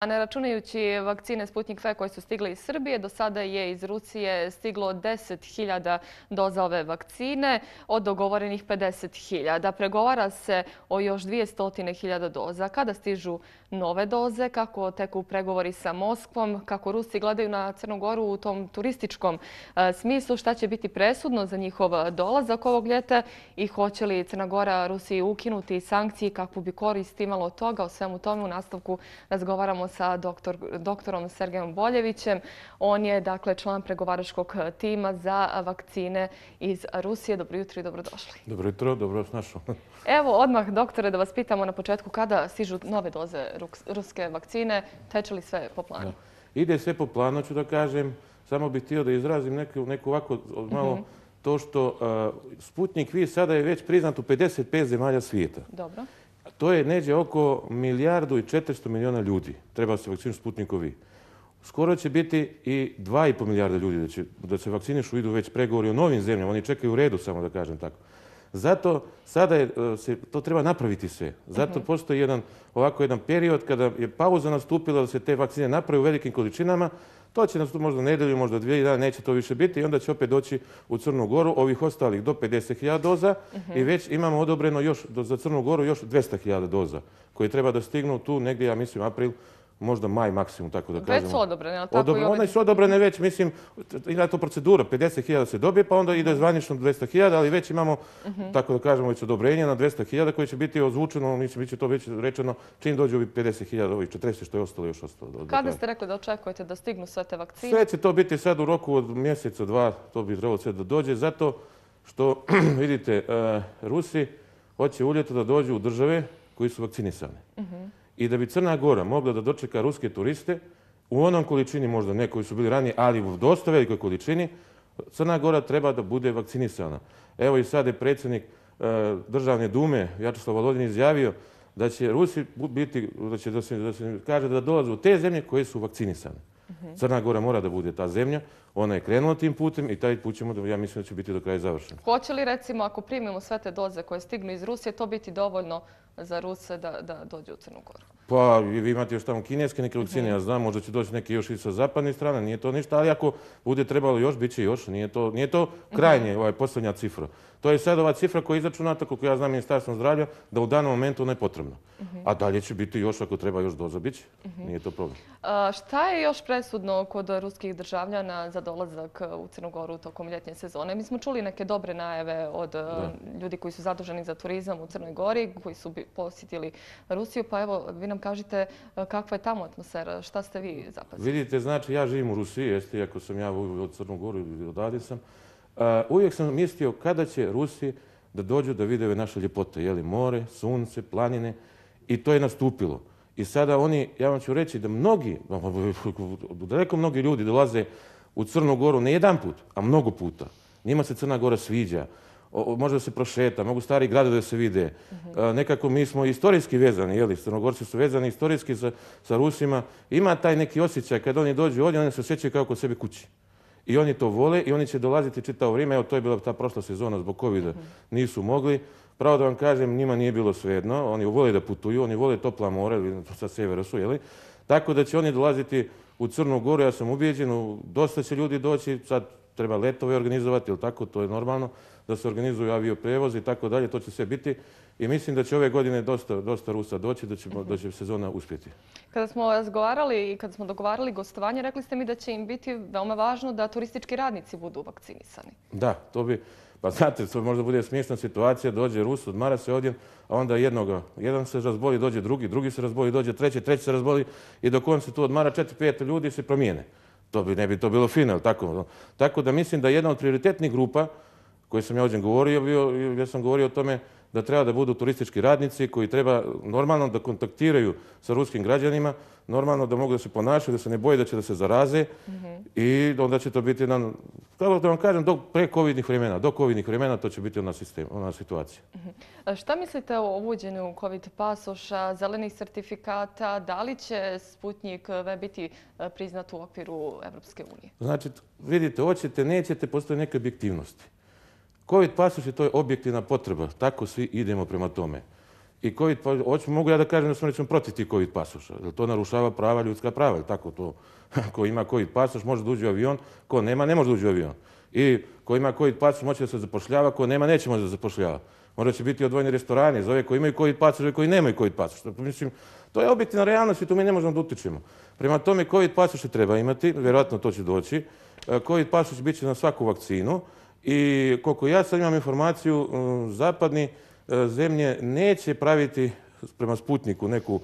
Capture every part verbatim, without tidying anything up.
A ne računajući vakcine Sputnik V koje su stigle iz Srbije, do sada je iz Rusije stiglo deset hiljada doza ove vakcine, od dogovorenih pedeset hiljada. Pregovara se o još dvjesto hiljada doza. Kada stižu nove doze, kako teku pregovori sa Moskvom, kako Rusi gledaju na Crnu Goru u tom turističkom smislu, šta će biti presudno za njihov dolazak ovog ljeta i hoće li Crna Gora Rusiji ukinuti sankcije, kakvu bi korist imalo od toga. O svemu tome u nastavku razgovaramo sa doktor, doktorom Sergejom Boljevićem. On je dakle član pregovaračkog tima za vakcine iz Rusije. Dobro jutro i dobrodošli. Dobro jutro, dobro vas našao. Evo odmah, doktore, da vas pitamo na početku kada stižu nove doze ruske vakcine. Teče li sve po planu? Da. Ide sve po planu, ću da kažem. Samo bih htio da izrazim neku, neku ovako malo mm-hmm. to što uh, Sputnik V sada je već priznat u pedeset pet zemalja svijeta. Dobro. To je neđe oko milijardu i četiristo miliona ljudi. Treba se vakcinu Sputniku V. Skoro će biti i dva i pol milijarda ljudi da, će, da se vakcinišu, idu već pregovori o novim zemljama. Oni čekaju u redu, samo da kažem tako. Zato sada je, se, to treba napraviti sve. Zato postoji jedan, ovako jedan period kada je pauza nastupila da se te vakcine napravi u velikim količinama. To će nas tu možda nedelju, možda dvije dana, neće to više biti i onda će opet doći u Crnu Goru ovih ostalih do pedeset hiljada doza i već imamo odobreno još za Crnu Goru još dvjesto hiljada doza koje treba da stignu tu negdje, ja mislim, april, možda maj maksimum, tako da kažemo. Već su odobrene, ali tako Odobren, i ove... One su odobrene već, mislim, ima to procedura, pedeset hiljada se dobije, pa onda ide zvanično dvjesto hiljada, ali već imamo, uh-huh. tako da kažemo, već odobrenje na dvjesto hiljada koje će biti ozvučeno, mislim, bit će to već rečeno čim dođe ovih pedeset hiljada, ovih četrdeset što je ostalo još ostalo. Do, Kada ste rekli da očekujete da stignu sve te vakcine? Sve će to biti sad u roku od mjeseca, dva, to bi trebalo sve da dođe, zato što, vidite, uh, Rusi hoće u ljeto da dođu u države koji su vakcinisane. Uh-huh. I da bi Crna Gora mogla da dočeka ruske turiste u onom količini, možda ne koji su bili ranije, ali u dosta velikoj količini, Crna Gora treba da bude vakcinisana. Evo i sad je predsjednik e, Državne dume, Vjačeslav Volodin, izjavio da će Rusi biti, da će da se, da se kaže da dolaze u te zemlje koje su vakcinisane. Uh-huh. Crna Gora mora da bude ta zemlja, ona je krenula tim putem i taj put ćemo, da, ja mislim da će biti do kraja završen. Hoće li recimo, ako primimo sve te doze koje stignu iz Rusije, to biti dovoljno za Ruse da, da dođe u Crnu Goru? Pa vi imate još tamo kineske neke vakcine, ja znam, možda će doći neki još i sa zapadne strane, nije to ništa, ali ako bude trebalo još, bit će još, nije to, nije to krajnje, ovaj, posljednja cifra. To je sad ova cifra koja je izračunata, koliko ja znam, Ministarstvom zdravlja, da u danom momentu ona je potrebna. A dalje će biti još, ako treba još doza, bit će. Nije to problem. A šta je još presudno kod ruskih državljana za dolazak u Crnu Goru tokom ljetnje sezone? Mi smo čuli neke dobre najave od da. ljudi koji su zaduženi za turizam u Crnoj Gori, koji su posjetili Rusiju, pa evo, vi nam kažite kakva je tamo atmosfera, šta ste vi zapazili? Vidite, znači, ja živim u Rusiji, jeste, iako sam ja od Crnu Goru i odavde sam. Uh, uvijek sam mislio kada će Rusi da dođu da vide naše ljepote, jeli, more, sunce, planine, i to je nastupilo. I sada oni, ja vam ću reći da mnogi, daleko mnogi ljudi dolaze u Crnu Goru ne jedan put, a mnogo puta. Njima se Crna Gora sviđa, o, može da se prošeta, mogu stari gradovi da se vide. Uh-huh. Nekako mi smo istorijski vezani, jeli, Crnogorci su vezani istorijski sa, sa Rusima. Ima taj neki osjećaj kad oni dođu ovdje, oni se osjećaju kao kod sebe kući. I oni to vole i oni će dolaziti čitavo vrijeme. Evo, to je bila ta prošla sezona zbog covida. Nisu mogli. Pravo da vam kažem, njima nije bilo svejedno. Oni vole da putuju, oni vole topla mora, sa sjevera su, jeli? Tako da će oni dolaziti u Crnu Goru, ja sam ubijeđen, dosta će ljudi doći, sad treba letove organizovati, ili tako, to je normalno, da se organizuju avioprevoz i tako dalje, to će sve biti. I mislim da će ove godine dosta, dosta Rusa doći, da će, da će sezona uspjeti. Kada smo razgovarali i kada smo dogovarali gostovanje, rekli ste mi da će im biti veoma važno da turistički radnici budu vakcinisani. Da, to bi, pa znate, to možda bude smiješna situacija, dođe Rus, odmara se odjen, a onda jednoga, jedan se razboli, dođe drugi, drugi se razboli, dođe treći, treći se razboli i dok on se tu odmara, četiri, pet ljudi se promijene. To bi, ne bi to bilo fino, tako. Tako da mislim da jedna od prioritetnih grupa koje sam ja ovdje govorio, bio, ja sam govorio o tome da treba da budu turistički radnici koji treba normalno da kontaktiraju sa ruskim građanima, normalno da mogu da se ponašaju, da se ne boje da će da se zaraze mm-hmm. i onda će to biti jedan, kako da vam kažem, do pre-covidnih vremena, do covidnih vremena to će biti ona, sistem, ona situacija. Mm-hmm. Šta mislite o uvođenju COVID pasoša, zelenih sertifikata, da li će Sputnik V biti priznat u okviru Evropske unije? Znači, vidite, hoćete, nećete, postoje neke objektivnosti. COVID pasoš je to je objektivna potreba, tako svi idemo prema tome. I COVID, pa, hoću, mogu ja da kažem da sam recimo protiv tih COVID pasoša, jer to narušava prava, ljudska prava, ili tako to. Ko ima COVID pasoš može da uđe u avion, ko nema ne može da uđe u avion. I ko ima COVID pasoš moće da se zapošljava, ko nema neće može da zapošljava. Možda će biti odvojeni restorani za ove koji imaju COVID pasoš i koji nemaju COVID pasoš. Mislim, to je objektivna realnost i tu mi ne možemo da utičemo. Prema tome, COVID pasoše treba imati, vjerojatno to će doći. COVID pasoš biće na svaku vakcinu i koliko ja sad imam informaciju, zapadni zemlje neće praviti prema Sputniku neku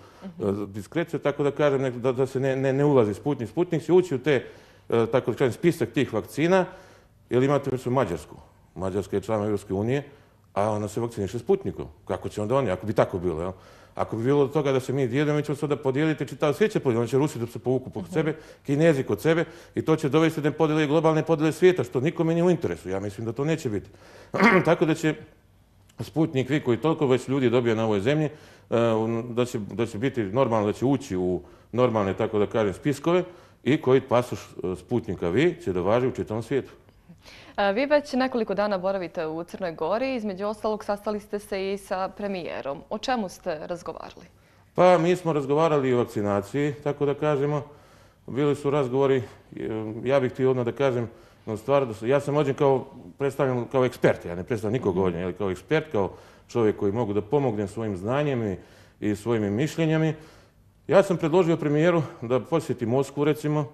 diskreciju, tako da kažem da, da se ne, ne, ne ulazi Sputnik. Sputnik će ući u te, tako da kažem, spisak tih vakcina, jer imate mislim Mađarsku. Mađarska je član Europske unije, a ona se vakciniše Sputnikom. Kako će onda oni, ako bi tako bilo, jel? Ako bi bilo od toga da se mi dijelimo, mi ćemo sada podijeliti, čitav svijet će podijeliti, oni će Rusi da se povuku pod sebe, Kinezi kod sebe i to će dovesti da podijele globalne podijele svijeta, što nikome nije u interesu. Ja mislim da to neće biti. Tako da će Sputnik Vi koji toliko već ljudi dobije na ovoj zemlji, da će, da će biti normalno, da će ući u normalne, tako da kažem, spiskove i koji pasoš Sputnika Vi će da važi u čitavom svijetu. Vi već nekoliko dana boravite u Crnoj Gori, između ostalog sastali ste se i sa premijerom. O čemu ste razgovarali? Pa mi smo razgovarali i o vakcinaciji, tako da kažemo. Bili su razgovori, ja bih htio odmah da kažem, no stvar, ja sam ovdje kao predstavljen kao ekspert, ja ne predstavljam nikog ovdje, ali kao ekspert, kao čovjek koji mogu da pomognem svojim znanjem i, i svojim mišljenjami. Ja sam predložio premijeru da posjeti Moskvu, recimo,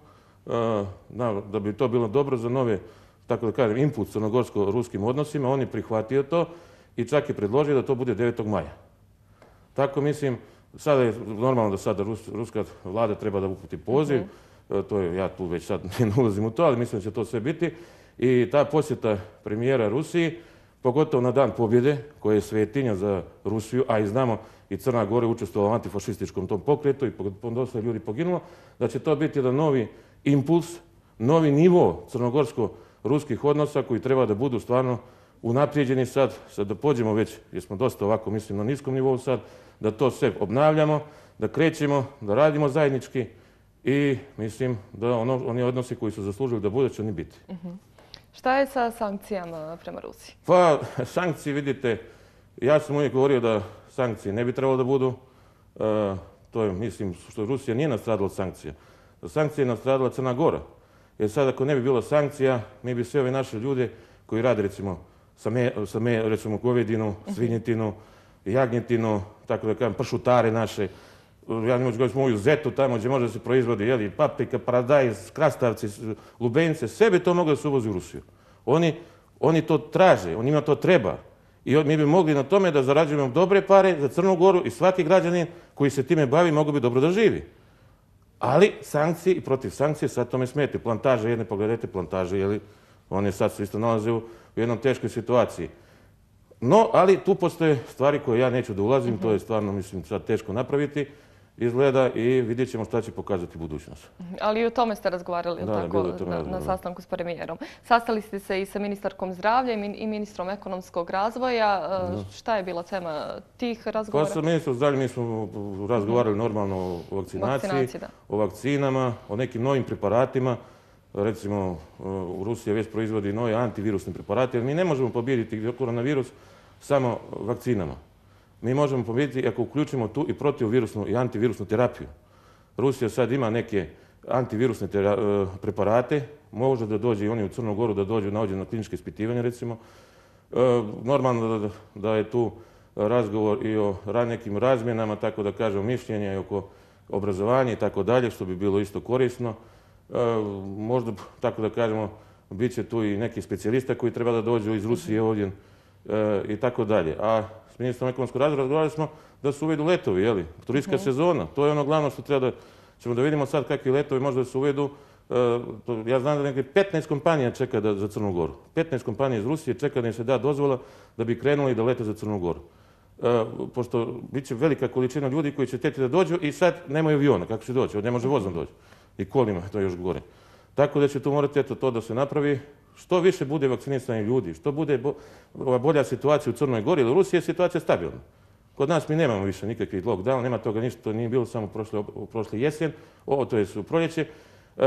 da bi to bilo dobro za nove, tako da kažem, input crnogorsko-ruskim odnosima. On je prihvatio to i čak je predložio da to bude devetog maja. Tako mislim, sada je normalno da sada Rus, ruska vlada treba da uputi poziv. Mm-hmm. To je, ja tu već sad ne ulazim u to, ali mislim da će to sve biti. I ta posjeta premijera Rusiji, pogotovo na dan pobjede, koja je svetinja za Rusiju, a i znamo i Crna Gora je učestvovala u antifašističkom tom pokretu i dosta ljudi poginulo, da će to biti jedan novi impuls, novi nivo crnogorsko-ruskih odnosa koji treba da budu stvarno unaprijeđeni sad, sad da pođemo već, jer smo dosta ovako, mislim, na niskom nivou sad, da to sve obnavljamo, da krećemo, da radimo zajednički i mislim da ono, oni odnosi koji su zaslužili da bude će oni biti. Uh-huh. Šta je sa sankcijama prema Rusiji? Pa, sankcije, vidite, ja sam uvijek govorio da sankcije ne bi trebalo da budu. Uh, to je, mislim, što Rusija nije nastradila od sankcija. Sankcije je nastradila Crna Gora. Jer sad ako ne bi bilo sankcija, mi bi sve ove naše ljude koji rade, recimo, sa, me, sa me, recimo, govedinu, svinjetinu, jagnjetinu, tako da kažem, pršutare naše. Ja ne moću govoriti moju zetu tamo gdje može da se proizvodi, jeli, paprika, paradajz, krastavci, lubenice, sve bi to moglo da se uvozi u Rusiju. Oni, oni to traže, on njima to treba. I mi bi mogli na tome da zarađujemo dobre pare za Crnu Goru i svaki građanin koji se time bavi mogu bi dobro da živi. Ali sankcije i protiv sankcije sad tome smete. Plantaže, jedne pogledajte plantaže, jeli, one sad se isto nalaze u, u jednom teškoj situaciji. No, ali tu postoje stvari koje ja neću da ulazim, mm-hmm. to je stvarno, mislim, sad teško napraviti, izgleda i vidjet ćemo šta će pokazati budućnost. Ali i o tome ste razgovarali, da, tako, na, na sastanku s premijerom. Sastali ste se i sa ministarkom zdravlja i ministrom ekonomskog razvoja. Da. Šta je bila tema tih razgovora? Pa sa ministrom zdravlja mi smo razgovarali mm-hmm. normalno o vakcinaciji, vakcinaciji o vakcinama, o nekim novim preparatima. Recimo, u Rusiji već proizvodi nove antivirusne preparate, jer mi ne možemo pobijediti koronavirus samo vakcinama. Mi možemo pobijediti ako uključimo tu i protivvirusnu i antivirusnu terapiju. Rusija sad ima neke antivirusne preparate, može da dođe i oni u Crnu Goru da dođu na, na kliničke ispitivanje, recimo. E, normalno da, da je tu razgovor i o nekim razmjenama, tako da kažem, mišljenja i oko obrazovanja i tako dalje, što bi bilo isto korisno. E, možda, tako da kažemo, bit će tu i neki specijalista koji treba da dođu iz Rusije ovdje e, i tako dalje. A s ministrom ekonomskog razvoja razgovarali smo da se uvedu letovi, jeli, turistička uh-huh. sezona. To je ono glavno što treba da ćemo da vidimo sad kakvi letovi možda da se uvedu. E, to, ja znam da nekaj petnaest kompanija čeka da, za Crnu Goru. petnaest kompanija iz Rusije čeka da im se da dozvola da bi krenuli da lete za Crnu Goru. E, pošto bit će velika količina ljudi koji će teti da dođu i sad nemaju aviona, kako će doći, ne može vozom doći. I kolima, to je još gore. Tako da će tu morati eto, to da se napravi. Što više bude vakcinisanih ljudi, što bude bo, bolja situacija u Crnoj Gori, jer u Rusiji je situacija stabilna. Kod nas mi nemamo više nikakvih lockdown, nema toga ništa, to nije bilo samo prošle, prošle jesen, ovo to je u proljeće. E,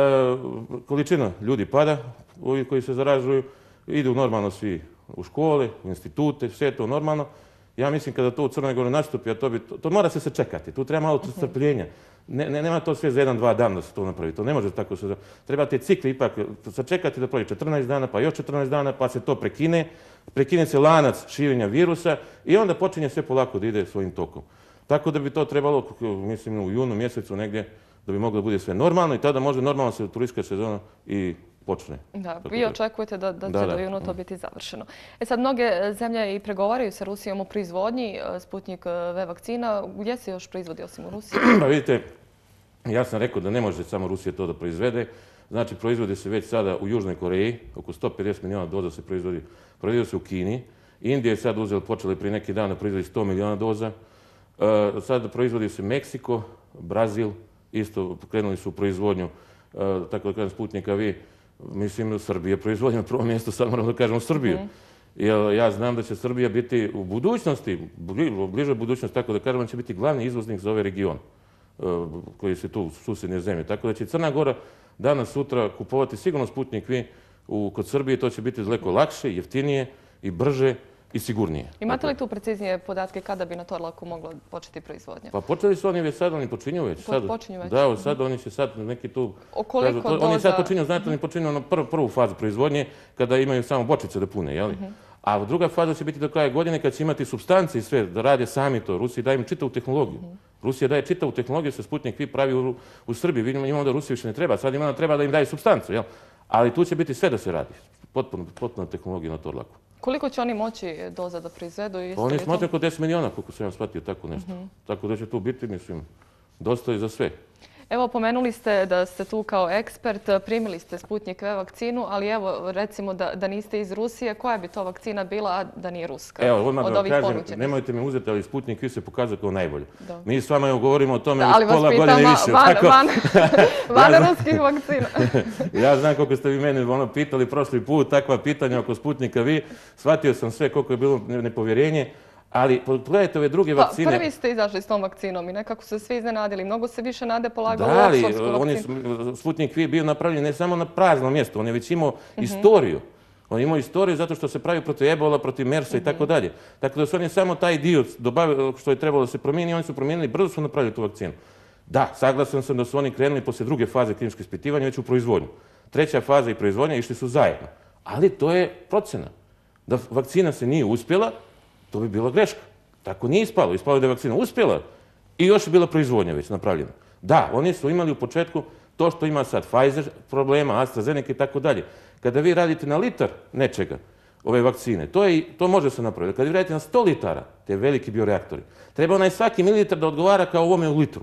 količina ljudi pada, ovi koji se zaražuju, idu normalno svi u škole, u institute, sve to normalno. Ja mislim kada to u Crnoj Gori nastupi, a to, bi, to, to mora se sačekati, tu treba malo strpljenja. Ne, ne, nema to sve za jedan, dva dana da se to napravi, to ne može tako se... Trebate cikli ipak sačekati da prođe četrnaest dana, pa još četrnaest dana, pa se to prekine, prekine se lanac širenja virusa i onda počinje sve polako da ide svojim tokom. Tako da bi to trebalo, mislim, u junu mjesecu negdje, da bi moglo da bude sve normalno i tada može normalno se turistička sezona i počne. Da, vi očekujete da, da će da, da. do juna to biti završeno. E sad, mnoge zemlje i pregovaraju sa Rusijom o proizvodnji Sputnik V vakcina. Gdje se još proizvodi osim u Rusiji? Pa vidite, ja sam rekao da ne može samo Rusija to da proizvede. Znači, proizvodi se već sada u Južnoj Koreji, oko sto pedeset milijuna doza se proizvodi. Proizvodi se u Kini. Indija je sad uzela, počela prije neki dan da proizvodi sto milijuna doza. E, sad proizvodi se Meksiko, Brazil, isto krenuli su u proizvodnju, e, tako da kažem, Sputnika V. Mislim, Srbija proizvodnja na prvom mjestu, sad moramo da kažemo Srbiju. Mm. Jer ja znam da će Srbija biti u budućnosti, u bližoj budućnosti, tako da kažemo, će biti glavni izvoznik za ovaj region koji se tu u susjedne zemlje. Tako da će Crna Gora danas, sutra kupovati sigurno Sputnik V u, kod Srbije. To će biti daleko lakše, jeftinije i brže i sigurnije. Imate li tu preciznije podatke kada bi na Torlaku mogla početi proizvodnja? Pa počeli su oni već sad, oni počinju već. Po, počinju već? Da, sad oni će sad neki tu... O koliko kažu, doza? Oni sad počinju, znate, oni počinju na prvu, prvu fazu proizvodnje kada imaju samo bočice da pune, jel? Uh-huh. A druga faza će biti do kraja godine kad će imati supstance i sve, da rade sami to. Rusija daje im čitavu tehnologiju. Uh-huh. Rusija daje čitavu tehnologiju, se Sputnik V pravi u, u Srbiji. Vidimo imamo da Rusiji više ne treba, sad imamo da treba da im daje supstancu, jel? Ali tu će biti sve da se radi. Potpuno, potpuno tehnologija na Torlaku. Koliko će oni moći doza da proizvedu? Oni smatraju oko deset milijuna, koliko sam ja shvatio, tako nešto. Uh-huh. Tako da će tu biti, mislim, dosta i za sve. Evo, pomenuli ste da ste tu kao ekspert, primili ste Sputnik V vakcinu, ali evo, recimo da, da niste iz Rusije, koja bi to vakcina bila, a da nije ruska? Evo, odmah da vam kažem, ponuđenih? Nemojte me uzeti, ali Sputnik V se pokazao kao najbolje. Da. Mi s vama govorimo o tome da, već pola godine više. Van, tako? van, van ja ruskih vakcina. Ja znam koliko ste vi meni ono pitali prošli put, takva pitanja oko Sputnika V. Shvatio sam sve koliko je bilo nepovjerenje. Ali pogledajte ove druge pa, vakcine... Prvi ste izašli s tom vakcinom i nekako se svi iznenadili. Mnogo se više nade polagalo da, u oksfordsku vakcinu. Da, ali Sputnik V je bio napravljen ne samo na prazno mjesto, on je već imao uh-huh. istoriju. On je imao istoriju zato što se pravi protiv ebola, protiv mersa uh-huh. i tako dalje. Tako da su oni samo taj dio dobavili što je trebalo da se promijeni, oni su promijenili, brzo su napravili tu vakcinu. Da, saglasan sam da su oni krenuli poslije druge faze kliničkog ispitivanja već u proizvodnju. Treća faza i proizvodnja išli su zajedno. Ali to je procena. Da vakcina se nije uspjela, to bi bila greška. Tako nije ispalo. Ispalo je da je vakcina uspjela i još je bila proizvodnja već napravljena. Da, oni su imali u početku to što ima sad Pfizer problema, AstraZeneca i tako dalje. Kada vi radite na litar nečega, ove vakcine, to, je, to može se napraviti. Kada vi radite na sto litara, te veliki bioreaktori, treba onaj svaki mililitar da odgovara kao ovome u litru.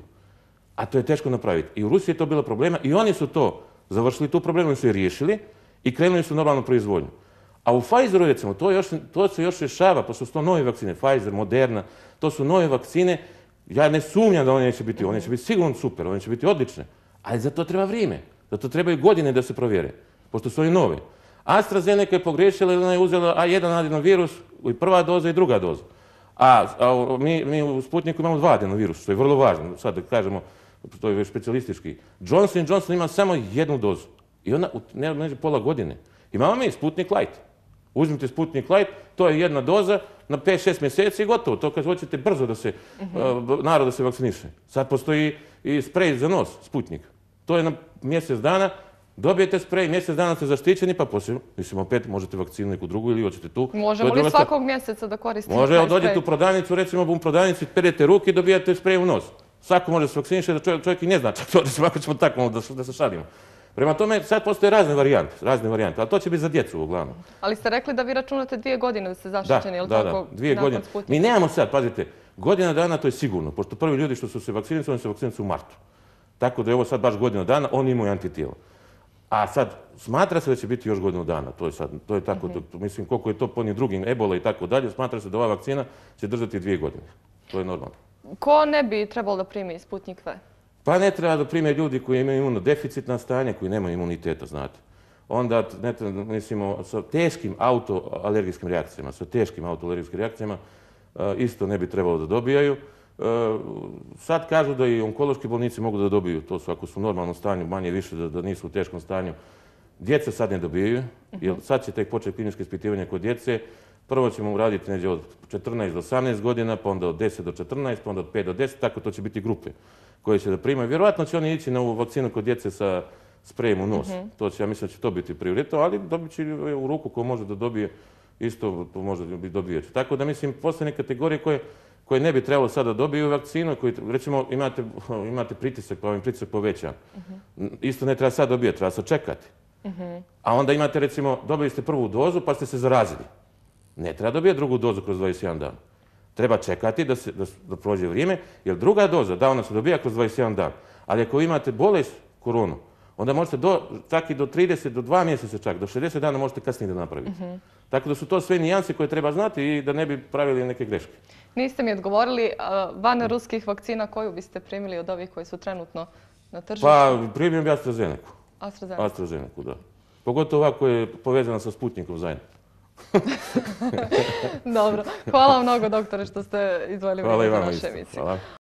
A to je teško napraviti. I u Rusiji je to bilo problema i oni su to završili, tu problemu su je riješili i krenuli su normalnu proizvodnju. A u Pfizeru, recimo, to, još, to se još rješava, pa su to nove vakcine, Pfizer, Moderna, to su nove vakcine. Ja ne sumnjam da one neće biti, one će biti sigurno super, one će biti odlične, ali za to treba vrijeme, za to trebaju godine da se provjere, pošto su oni nove. AstraZeneca je pogriješila ili ona je uzela A jedan adenovirus, i prva doza i druga doza. A, a mi, mi u Sputniku imamo dva adenovirusa, što je vrlo važno, sad da kažemo, to je već specijalistički. Johnson and Johnson ima samo jednu dozu i ona ne može pola godine. Imamo mi Sputnik Light. Uzmite Sputnik Light, to je jedna doza na pet šest mjeseci i gotovo. To kad hoćete brzo da se, uh-huh. uh, narod da se vakciniše. Sad postoji i sprej za nos, Sputnik. To je na mjesec dana, dobijete sprej, mjesec dana ste zaštićeni, pa poslije, mislim, opet možete vakcinu neku drugu ili hoćete tu. Možemo li svakog mjeseca da koristite može, taj sprej? Može, dođete u prodavnicu, recimo u prodavnici, perete ruke i dobijate sprej u nos. Svako može se vakciniše, da čovjek, čovjek i ne zna, čak to svako ćemo tako da, da se šalimo. Prema tome, sad postoje razne varijante, razne varijante, ali to će biti za djecu uglavnom. Ali ste rekli da vi računate dvije godine da ste zaštićeni, ili da, tako? Da, dvije godine. Mi nemamo sad, pazite, godina dana to je sigurno, pošto prvi ljudi što su se vakcinicali, oni su vakcinicali u martu. Tako da je ovo sad baš godina dana, oni imaju antitijelo. A sad, smatra se da će biti još godinu dana, to je sad, to je tako, mm-hmm. to, mislim, koliko je to po onim drugim ebola i tako dalje, smatra se da ova vakcina će držati dvije godine. To je normalno. Ko ne bi trebalo da primi Sputnik V? Pa ne treba da prime ljudi koji imaju imunodeficitna stanja, koji nemaju imuniteta, znate. Onda, ne treba, mislimo, sa teškim autoalergijskim reakcijama, sa teškim autoalergijskim reakcijama isto ne bi trebalo da dobijaju. Sad kažu da i onkološki bolnici mogu da dobiju, to su ako su u normalnom stanju, manje više da, da nisu u teškom stanju. Djeca sad ne dobijaju, jer sad će tek početi kliničko ispitivanje kod djece, Prvo ćemo uraditi negdje od četrnaest do osamnaest godina, pa onda od deset do četrnaest, pa onda od pet do deset, tako to će biti grupe koje će da primaju. Vjerojatno će oni ići na ovu vakcinu kod djece sa sprejem u nos. To će, ja mislim da će to biti prioritet, ali dobit će u ruku ko može da dobije, isto to može dobijeti. Tako da mislim, postoje kategorije koje, koje ne bi trebalo sada dobiju vakcinu, koji, recimo imate, imate pritisak, pa vam je pritisak povećan. Isto ne treba sad dobijeti, treba se čekati. A onda imate, recimo, dobili ste prvu dozu pa ste se zarazili. Ne treba dobijeti drugu dozu kroz dvadeset jedan dan. Treba čekati da, se, da, da prođe vrijeme, jer druga doza, da, ona se dobija kroz dvadeset jedan dan. Ali ako imate bolest, koronu, onda možete do, čak i do trideset, do dva mjeseca čak, do šezdeset dana možete kasnije da napravite. Tako da su to sve nijanse koje treba znati i da ne bi pravili neke greške. Niste mi odgovorili, van ruskih vakcina koju biste primili od ovih koji su trenutno na tržištu? Pa primio bi AstraZeneku. AstraZeneku? AstraZeneku, da. Pogotovo ova koja je povezana sa Sputnikom zajedno. Dobro. Hvala vam mnogo, doktore, što ste izdvojili vrijeme za našu emisiju.